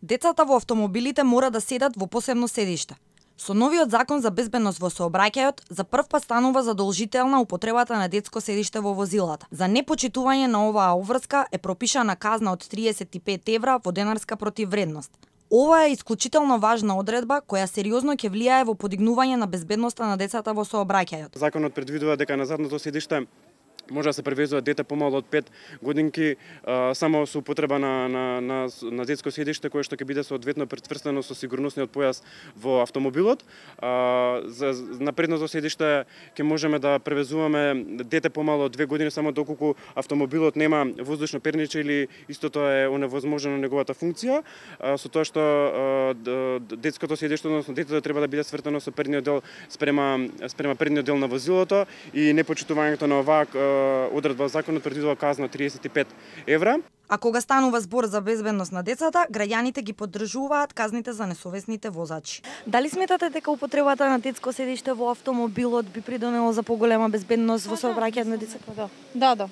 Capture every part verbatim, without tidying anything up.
Децата во автомобилите мора да седат во посебно седиште. Со новиот закон за безбедност во сообраќајот, за прв пат станува задолжителна употребата на детско седиште во возилата. За непочитување на оваа обврска е пропишана казна од триесет и пет евра во денарска противвредност. Ова е исклучително важна одредба која сериозно ќе влијае во подигнување на безбедноста на децата во сообраќајот. Законот предвидува дека на задното седиште може да се превезува дете помало од пет годинки а, само со употреба на, на, на, на детско седиште кое што ќе биде соодветно претврстено со сигурносниот појас во автомобилот. А, за, на предното седиште ќе можеме да превезуваме дете помало од две години само доколку автомобилот нема воздушно перниче или истото е оневозможено неговата функција, а, со тоа што а, детското седиште, односно детето треба да биде свртено со предниот дел спрема спрема предниот дел на возилото и непочитувањето на оваа одредба законот предвидува казна триесет и пет евра. А кога станува збор за безбедност на децата, граѓаните ги поддржуваат казните за несовесните возачи. Дали сметате дека употребата на детско седиште во автомобилот би придонело за поголема безбедност во сообраќајот на децата? Да, да, да.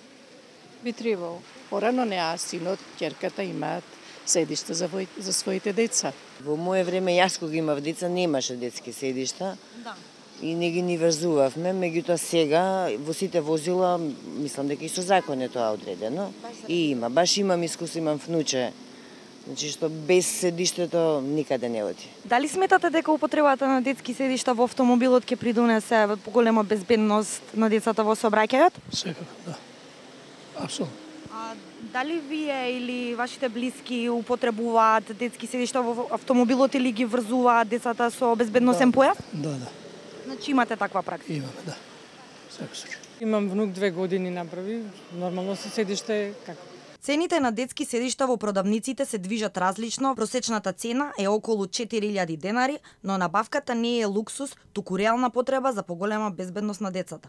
Би требало. Порано неа синот, ќерката имаат седишта за, вој, за своите деца. Во мое време, јас кога имав деца, немаше детски седишта. Да. И не ги ни врзувавме, меѓутоа сега во сите возила, мислам дека и со закон е тоа одредено. И има, баш имам искуство, имам внуче, значи што без седиштето никаде не оди. Дали сметате дека употребата на детски седишта во автомобилот ќе придонесе поголема безбедност на децата во сообраќајот? Секако, да. Апсолутно. А дали вие или вашите блиски употребуваат детски седишта во автомобилот или ги врзуваат децата со безбедносен да. појас? Да, да. Значи имате таква пракса? Имаме, да. Секој случај. Имам внук две години направи, нормално се седиште како. Цените на детски седишта во продавниците се движат различно. Просечната цена е околу четири илјади денари, но набавката не е луксус, туку реална потреба за поголема безбедност на децата.